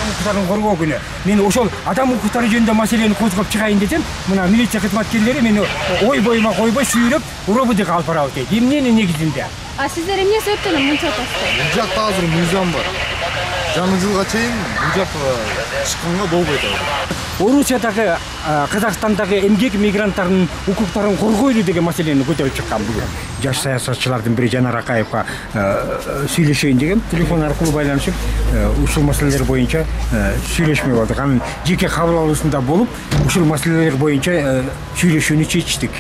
укуктарын коргоо күнү мен ошол адам укуктары жөнүндө маселени козгоп чыгайын десем, мына милиция кызматкерлери мени ой боюма койбой сүйрөп рободго алып барабыз дейт. Эмненин негизинде? А сиздер эмне себептен мынча атасыздар? Бул жакта азыр мыйзам бар. Жаңы жылга чейин бул жакка чыкканга болбойт азыр. Орусиядагы, Казакстандагы эмгек мигранттарынын укуктарын коргойлу деген маселени көтөрүп чыккан бүгүн. Жаш саясатчылардын бири Жанар Акаевга сүйлөшөйүн деген телефон аркылуу байланышып, ушул маселелер боюнча сүйлөшмөй болдук. Анын жеке кабыл алуусунда болуп, ушул маселелер боюнча сүйлөшүүнү чечтик.